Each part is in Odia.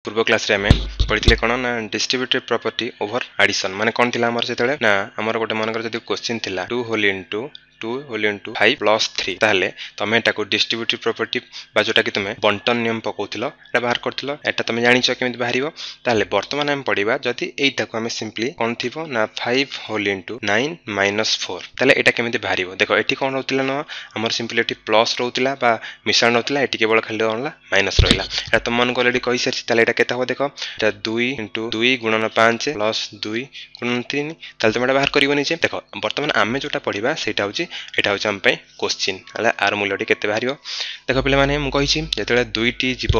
ପୂର୍ବ କ୍ଲାସ୍ରେ ଆମେ ପଢ଼ିଥିଲେ କ'ଣ ନା ଡିଷ୍ଟ୍ରିବ୍ୟୁଟିଭ୍ ପ୍ରପର୍ଟି ଓଭର ଆଡ଼ିସନ୍। ମାନେ କ'ଣ ଥିଲା ଆମର ସେତେବେଳେ ନା ଆମର ଗୋଟେ ମନେକର ଯଦି କୋଶ୍ଚିନ୍ ଥିଲା 2 whole into 2 whole into 5 plus 3, ତାହେଲେ ତମେ ଏଟାକୁ ଡିଷ୍ଟ୍ରିବ୍ୟୁଟିଭ୍ ପ୍ରପର୍ଟି ବା ଯେଉଁଟାକି ତୁମେ ବଣ୍ଟନ ନିୟମ ପକାଉଥିଲ, ଏଟା ବାହାର କରୁଥିଲ, ଏଟା ତମେ ଜାଣିଛ କେମିତି ବାହାରିବ। ତାହେଲେ ବର୍ତ୍ତମାନ ଆମେ ପଢ଼ିବା ଯଦି ଏଇଟାକୁ ଆମେ ସିମ୍ପଲି କ'ଣ ଥିବ ନା 5 ହୋଲ୍ ଇଣ୍ଟୁ 9 ମାଇନସ୍ 4, ତାହେଲେ ଏଇଟା କେମିତି ବାହାରିବ। ଦେଖ ଏଠି କ'ଣ ରହୁଥିଲା ନା ଆମର ସିମ୍ପଲି ଏଠି ପ୍ଲସ୍ ରହୁଥିଲା ବା ମିଶାଣ ରହୁଥିଲା, ଏଠି କେବଳ ଖାଲି କ'ଣ ହେଲା ମାଇନସ୍ ରହିଲା। ଏଟା ତୁମମାନଙ୍କୁ ଅଲରେଡ଼ି କହିସାରିଛି। ତାହେଲେ ଏଇଟା କେତେ ହେବ ଦେଖ, ଏଟା 2 ଇଣ୍ଟୁ 2 ଗୁଣନ 5 ପ୍ଲସ୍ 2 ଗୁଣନ 3। ତାହେଲେ ତୁମେ ଏଟା ବାହାର କରିବ ନିଜେ। ଦେଖ ବର୍ତ୍ତମାନ ଆମେ ଯେଉଁଟା ପଢ଼ିବା ସେଇଟା ହେଉଛି, ଏଇଟା ହେଉଛି ଆମ ପାଇଁ କୋଶ୍ଚିନ୍। ହେଲା ଆର ମୂଲ୍ୟଟି କେତେ ବାହାରିବ। ଦେଖ ପିଲାମାନେ, ମୁଁ କହିଛି ଯେତେବେଳେ 2ଟି ଯିବ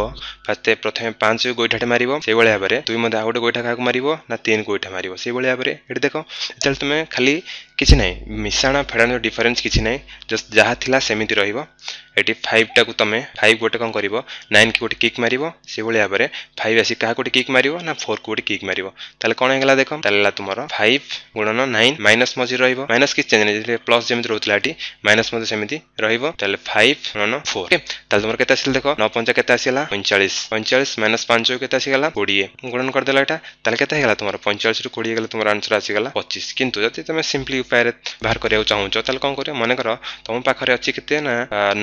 ଫାଷ୍ଟ ପ୍ରଥମେ 5 ଗୋଇଠାଟେ ମାରିବ, ସେଇଭଳି ଭାବରେ 2 ମଧ୍ୟ ଆଉ ଗୋଟେ ଗୋଇଠା କାହାକୁ ମାରିବ ନା 3 ଗୋଇଠା ମାରିବ। ସେଇଭଳି ଭାବରେ ଏଠି ଦେଖ, ଯେତେବେଳେ ତୁମେ ଖାଲି କିଛି ନାହିଁ ମିଶାଣ ଫେଡ଼ାଣ ଡିଫରେନ୍ସ କିଛି ନାହିଁ, ଜଷ୍ଟ ଯାହା ଥିଲା ସେମିତି ରହିବ। ଏଠି 5ଟାକୁ ତୁମେ 5 ଗୋଟେ କ'ଣ କରିବ, 9କି ଗୋଟେ କିକ୍ ମାରିବ। ସେଇଭଳି ଭାବରେ 5 ଆସି କାହାକୁ ଗୋଟେ କିକ୍ ମାରିବ ନା 4କୁ ଗୋଟେ କିକ୍ ମାରିବ। ତାହେଲେ କ'ଣ ହେଇଗଲା ଦେଖ, ତାହେଲେ ହେଲା ତୁମର 5 ଗୁଣନ 9 ମାଇନସ୍ ମଝିରେ ରହିବ, ମାଇନସ୍ କିଛି ଚେଞ୍ଜ ନାହିଁ, ପ୍ଲସ୍ ଯେମିତି ରହୁଥିଲା ଏଠି ମାଇନସ୍ ମଧ୍ୟ ସେମିତି ରହିବ। ତାହେଲେ 5 ଗୁଣନ 4, ତାହେଲେ ତୁମର କେତେ ଆସିଲା ଦେଖ, 9 ପଞ୍ଚା କେତେ ଆସିଲା 45, 45 ମାଇନସ୍ 5 କେତେ ଆସିଗଲା 20, ଗୁଣନ କରିଦେଲା ଏଇଟା, ତାହେଲେ କେତେ ହେଇଗଲା ତୁମର 45ରୁ 20 ଗଲେ ତୁମର ଆନ୍ସର ଆସିଗଲା 25। କିନ୍ତୁ ଯଦି ତୁମେ ସିମ୍ପଲି ଉପାୟରେ ବାହାର କରିବାକୁ ଚାହୁଁଛ ତାହେଲେ କ'ଣ କରିବ, ମନେକର ତୁମ ପାଖରେ ଅଛି କେତେ ନା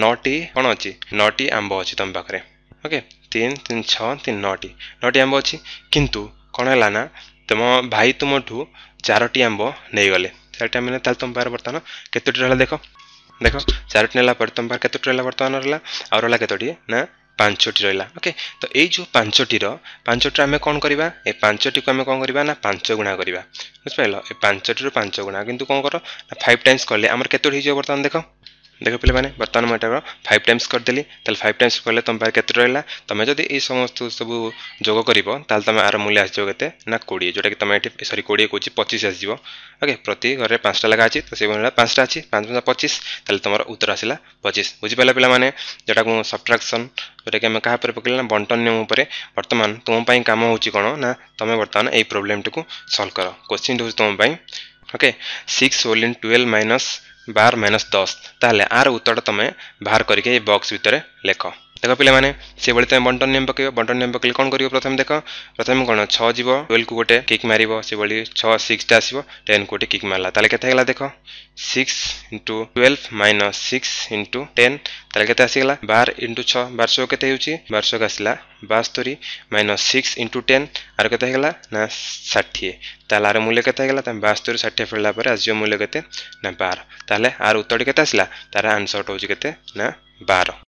9ଟି, କ'ଣ ଅଛି 9ଟି ଆମ୍ବ ଅଛି ତୁମ ପାଖରେ। ଓକେ, 3 3 6 3 9ଟି, 9ଟି ଆମ୍ବ ଅଛି। କିନ୍ତୁ କ'ଣ ହେଲା ନା ତୁମ ଭାଇ ତୁମଠୁ 4ଟି ଆମ୍ବ ନେଇଗଲେ। 4ଟି ଆମ୍ବ ନେଲେ, ତାହେଲେ ତୁମ ପାଖରେ ବର୍ତ୍ତମାନ କେତୋଟି ରହିଲା ଦେଖ, ଦେଖ 4ଟି ନେଲା ପରେ ତୁମ ପାଖରେ କେତୋଟି ରହିଲା ବର୍ତ୍ତମାନ ରହିଲା, ଆଉ ରହିଲା କେତୋଟି ନା 5ଟି ରହିଲା। ଓକେ, ତ ଏଇ ଯେଉଁ 5ଟିର ଆମେ କ'ଣ କରିବା, ଏ 5ଟିକୁ ଆମେ କ'ଣ କରିବା ନା 5 ଗୁଣା କରିବା, ବୁଝିପାରିଲ? ଏ 5ଟିରୁ 5 ଗୁଣା, କିନ୍ତୁ କ'ଣ କର ନା 5 ଟାଇମ୍ସ କଲେ ଆମର କେତୋଟି ହେଇଯିବ ବର୍ତ୍ତମାନ ଦେଖ। ଦେଖ ପିଲାମାନେ, ବର୍ତ୍ତମାନ ମୁଁ ଏଟାର 5 ଟାଇମ୍ସ କରିଦେଲି। ତାହେଲେ 5 ଟାଇମ୍ସ କଲେ ତୁମ ପାଖରେ କେତେ ରହିଲା, ତୁମେ ଯଦି ଏଇ ସମସ୍ତ ସବୁ ଯୋଗ କରିବ ତାହେଲେ ତୁମେ ଆର ମୂଲ୍ୟ ଆସିଯିବ କେତେ ନା 20, ଯେଉଁଟାକି ତୁମେ ଏଠି ସରି 20 କହୁଛି 25 ଆସିଯିବ। ଓକେ, ପ୍ରତି ଘରେ 5ଟା ଲେଖା ଅଛି, ତ ସେଇଭଳି 5ଟା ଅଛି, 5 5 25, ତାହେଲେ ତୁମର ଉତ୍ତର ଆସିଲା 25। ବୁଝିପାରିଲ ପିଲାମାନେ, ଯେଉଁଟାକୁ ମୁଁ ସବଟ୍ରାକ୍ସନ୍ ଯେଉଁଟାକି ଆମେ କାହା ଉପରେ ପକେଇଲେ ନା ବଣ୍ଟନ ନିୟମ ଉପରେ। ବର୍ତ୍ତମାନ ତୁମ ପାଇଁ କାମ ହେଉଛି କ'ଣ ନା ତୁମେ ବର୍ତ୍ତମାନ ଏଇ ପ୍ରୋବ୍ଲେମଟିକୁ ସଲ୍ଭ କର। କୋଶ୍ଚିନ୍ଟି ହେଉଛି ତୁମ ପାଇଁ, okay, 6 whole in 12 minus 12 minus 10, ତାହେଲେ ଆର ଉତ୍ତରଟା ତୁମେ ବାହାର କରିକି ଏଇ ବକ୍ସ ଭିତରେ ଲେଖ। ଦେଖ ପିଲାମାନେ, ସେଭଳି ତୁମେ ବଣ୍ଟନ ନିୟମ ପକାଇବ। ବଣ୍ଟନ ନିୟମ ପକାଇଲେ କ'ଣ କରିବ, ପ୍ରଥମେ ଦେଖ, ପ୍ରଥମେ କ'ଣ 6 ଯିବ, 12କୁ ଗୋଟେ କିକ୍ ମାରିବ, ସେଭଳି 6 6ଟା ଆସିବ, 10କୁ ଗୋଟେ କିକ୍ ମାରିଲା, ତାହେଲେ କେତେ ହେଇଗଲା ଦେଖ, 6 ଇଣ୍ଟୁ 12 ମାଇନସ୍ 6 ଇଣ୍ଟୁ 10, ତାହେଲେ କେତେ ଆସିଗଲା 12 ଇଣ୍ଟୁ 6, 1200 କେତେ ହେଉଛି, 1200 ଆସିଲା 72 ମାଇନସ୍ 6 ଇଣ୍ଟୁ 10, ଆର କେତେ ହେଇଗଲା ନା 60। ତାହେଲେ ଆର ମୂଲ୍ୟ କେତେ ହେଇଗଲା, ତମେ 72 60 ଫେରିଲା ପରେ ଆସିଯିବ ମୂଲ୍ୟ କେତେ ନା 12। ତାହେଲେ ଆର ଉତ୍ତରଟି କେତେ ଆସିଲା, ତାର ଆନ୍ସରଟା ହେଉଛି କେତେ ନା 12।